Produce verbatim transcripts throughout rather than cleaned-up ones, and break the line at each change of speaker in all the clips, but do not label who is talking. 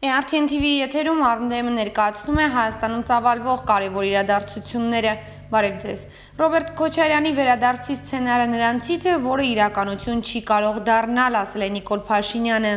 Է Ար Թի Են Թի Վի եթերում Արմդեմը ներկայացնում է Հայաստանում ծավալվող կարևոր իրադարձությունները։ Բարև ձեզ։ Ռոբերտ Քոչարյանի վերադարձի սցենարը նրանցից է, որը իրականություն չի կարող դառնալ, ասել է Նիկոլ Փաշինյանը։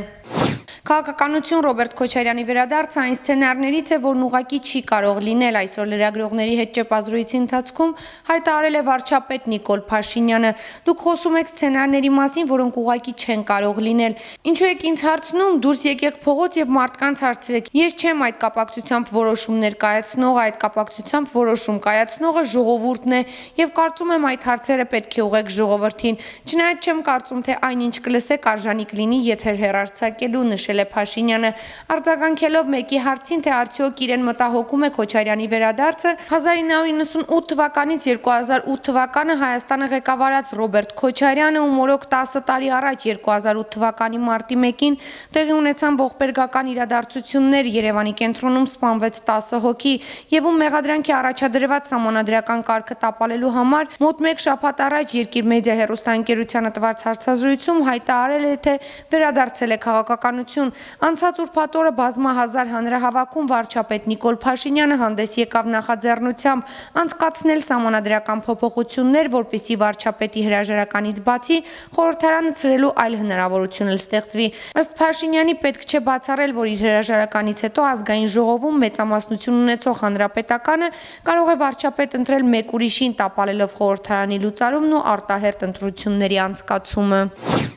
Քաղաքականություն Ռոբերտ Քոչարյանի վերադարձը այն սցենարներից է, որն ուղղակի չի կարող լինել, այսօր լրագրողների հետ ճեպազրույցի ընթացքում հայտարարել է վարչապետ Նիկոլ Փաշինյանը։ Դուք խոսում եք սցենարների մասին, որոնք ուղղակի չեն կարող լինել։ Ինչու եք ինձ հարցնում, դուրս եկեք փողոց եւ մարդկանց հարցրեք։ Ես չեմ այդ կապակցությամբ որոշումներ կայացնողը, այդ կապակցությամբ որոշում կայացնողը ժողովուրդն է եւ կարծում եմ այդ հարցերը պետք է ուղղեք ժողովրդին։ Չնայած չեմ կարծում, թե այնինչ կլսեք արժանի կլինի եթեր հեռարձակելու, նշել է Փաշինյանը, արձագանքելով մեկի հարցին, թե արդյոք իրեն մտահոգում է Քոչարյանի վերադարձը, հազար ինը հարյուր նվաթ թվականից երկու հազար ութ թվականը Հայաստանը ղեկավարած Ռոբերտ Քոչարյանը ու մորոք տասը տարի առաջ երկու հազար ութ թվականի մարտի մեկին տեղի ունեցան ողբերգական իրադարձություններ, Երևանի կենտրոնում սպանվեց տասը հոգի եւ ում մեղադրանքի առաջադրված սահմանադրական կարգը տապալելու համար մոտ մեկ շաբաթ առաջ Երկիր մեդիա հեռուստաընկերությանը տված հարցազրույցում հայտարարել է, թե վերադարձել է քաղաքականություն։ Անցած ուրբաթ օրը բազմահազար հանրահավաքում վարչապետ Նիկոլ Փաշինյանը հանդես եկավ նախաձեռնությամբ անցկացնել սահմանադրական փոփոխություններ, որպեսզի վարչապետի հրաժարականից բացի խորհրդարանը ցրելու այլ հնարավորություն էլ ստեղծվի։ Ըստ Փաշինյանի պետք չէ բացառել, որ իր հրաժարականից հետո ազգային ժողովում մեծամասնություն ունեցող հանրապետականը կարող է վարչապետ ընտրել մեկ ուրիշին, տապալելով խորհրդարանի լուծարումն ու արտահերթ ընտրությունների անցկացումը։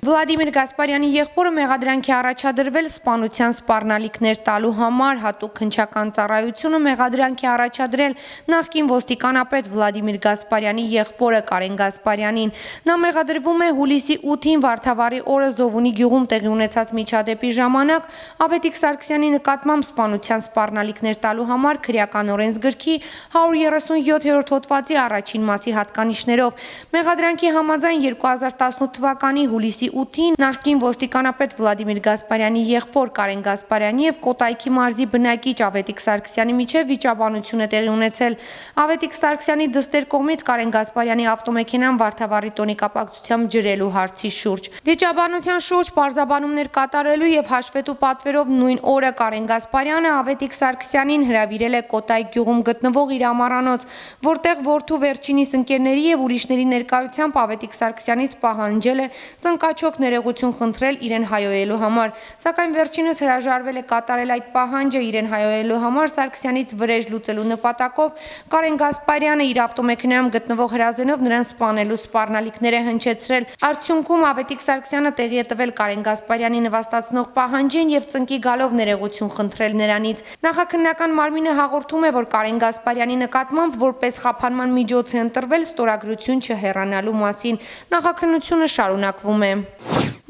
Վլադիմիր Գասպարյանի եղբորը մեղադրանքի առաջադրվել սպանության սպառնալիքներ տալու համար, հատուկ հնչական ծառայությունը մեղադրանքի առաջադրել նախկին ոստիկանապետ Վլադիմիր Գասպարյանի եղբորը Կարեն Գասպարյանին։ Նա մեղադրվում է հուլիսի ութին Վարդավառի օրը Զովունի գյուղում տեղի ունեցած միջադեպի ժամանակ Ավետիք Սարգսյանի նկատմամբ սպանության սպառնալիքներ տալու համար քրեական օրենսգրքի հարյուր երեսունյոթերորդ հոդվածի առաջին մասի հատկանիշներով։ Մեղադրանքի համաձայն երկու հազար տասնութ թվականի հուլիսի ութին նախկին ոստիկանապետ Վլադիմիր Գասպարյանի եղբոր Կարեն Գասպարյանի եւ Կոտայքի մարզի բնակիչ Ավետիք Սարգսյանի միջև վիճաբանություն է տեղի ունեցել։ Ավետիք Սարգսյանի դստեր կողմից Կարեն Գասպարյանի ավտոմեքենան Վարդավառի տոնի կապակցությամբ ջրելու հարցի շուրջ։ Վիճաբանության շուրջ պարզաբանումներ կատարելու եւ հաշվետու պատվերով նույն օրը Կարեն Գասպարյանը Ավետիք Սարգսյանին հրավիրել է Կոտայք գյուղում գտնվող իր ամառանոց, որտեղ որդու վերջինիս ընկերների եւ ուրիշների ներկայությամբ Ավետիք Սարգսյանից պահանջել է ծնկաչոք ներողություն խնդրել իրեն հայոյելու համար, սակայն վերջինս հրաժարվել է կատարել այդ պահանջը իրեն հայոյելու համար Սարգսյանից վրեժ լուծելու նպատակով Կարեն Գասպարյանը իր ավտոմեքենայում գտնվող հրազենով նրան սպանելու սպառնալիքներ է հնչեցրել։ Արդյունքում Ավետիք Սարգսյանը տեղի է տվել Կարեն Գասպարյանի նվաստացնող պահանջին եւ ծնկի գալով ներողություն խնդրել նրանից։ Նախաքննական մարմինը հաղորդում է, որ Կարեն Գասպարյանի նկատմամբ որպես խափանման միջոց է ընտրվել ստորագրություն չհեռանալու մասին։ Նախաքննությունը շարունակվում է։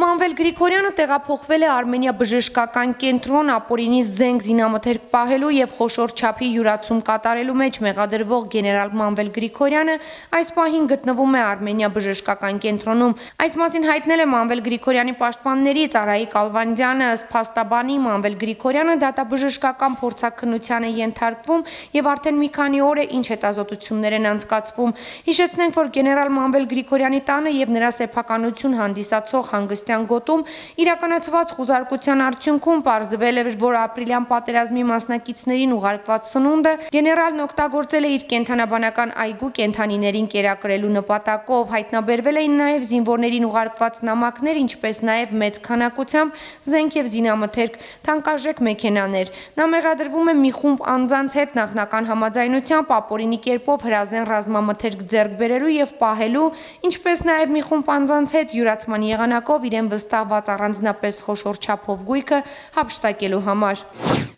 Մանվել Գրիգորյանը տեղափոխվել է Արմենիա բժշկական կենտրոն ապօրինի զենք զինամթերք պահելու եւ խոշոր չափի յուրացում կատարելու մեջ մեղադրվող գեներալ Մանվել Գրիգորյանը այս պահին գտնվում է Արմենիա բժշկական կենտրոնում։ Այս մասին հայտնել է Մանվել Գրիգորյանի պաշտպաններից Արայիկ Ալվանդյանը, ըստ փաստաբանի Մանվել Գրիգորյանը դատաբժշկական փորձաքննության է ենթարկվում եւ արդեն մի քանի օր է ինչ հետազոտություններ են անցկացվում։ Հիշեցնենք, որ գեներալ Մանվել Գրիգորյանի տանը եւ նրա սեփականություն հանդիսացող հանգստյան գոտում իրականացված խուզարկության արդյունքում պարզվել է, որ ապրիլյան պատերազմի մասնակիցներին ուղարկված սնունդը գեներալն օգտագործել է իր կենթանաբանական այգու կենդանիներին կերակրելու նպատակով։ Հայտնաբերվել էին նաև զինվորներին ուղարկված նամակներ, ինչպես նաև մեծ քանակությամբ զենք եւ զինամթերք, թանկարժեք մեքենաներ։ Նա մեղադրվում է մի խումբ անձանց հետ նախնական համաձայնությամբ ապօրինի կերպով հրազեն ռազմամթերք ձեռք բերելու եւ պահելու, ինչպես նաև մի խումբ անձանց հետ յուրացման եղանակով իրեն վստահված առանձնապես խոշոր չափով գույքը հափշտակելու համար։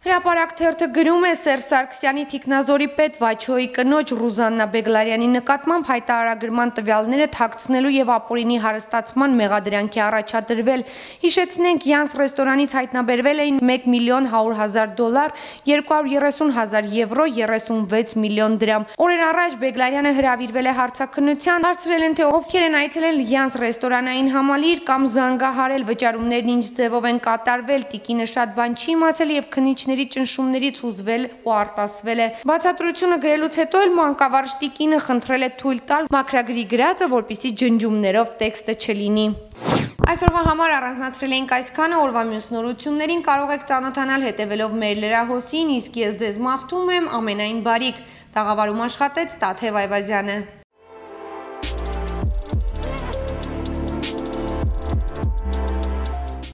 Հրապարակ թերթը գրում է Սերժ Սարգսյանի թիկնազորի պետ Վաչոյի կնոջ Ռուզաննա Բեգլարյանի նկատմամբ հայտարարագրման տվյալները թաքցնելու եւ ապօրինի հարստացման մեղադրանքի առաջադրվել։ Հիշեցնենք, Յանս ռեստորանից հայտնաբերվել էին մեկ միլիոն հարյուր հազար դոլար, երկու հարյուր երեսուն հազար եվրո, երեսունվեց միլիոն դրամ։ Օրեր առաջ Բեգլարյանը հրավիրվել է հարցաքննության, հարցրել են, թե ովքեր են այցելել Յանս ռեստորանային համալիր կամ զանգահարել, վճարումներն ինչ ձևով են կատարվել, տիկինը շատ բան չի իմացել եւ քննիչների ճնշումներից հուզվել ու արտասվել է։ Բացատրությունը գրելուց հետո էլ մանկավարժ տիկինը խնդրել է թույլ տալ մաքրագրի գրածը, որպեսզի ջնջումներով տեքստը չլինի։ Այսօրվա համար առանձնացրել էինք այսքանը, օրվա մյուս նորություններին կարող եք ծանոթանալ հետևելով մեր լրահոսին, իսկ ես ձեզ մաղթում եմ ամենայն բարիք։ Տաղավարում աշխատեց Տաթև Այվազյանը։